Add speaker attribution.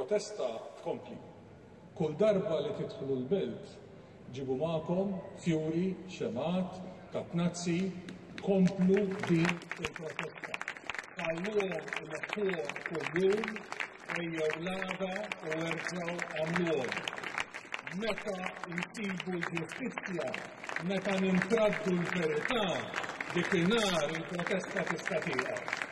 Speaker 1: Il-protesta tkompli. Kull darba li tidħlu l-Belt ġibu magħkom fjuri, xemgħat, katnazzi, komplu din il-protesta. Ħalluhom ineħħuhom kuljum, ejjew l-għada u erġgħu għamluhom. Meta nsibu l-ġustizzja, meta nintraddu l-verità, dikinhar il-protesta tista' tieqaf.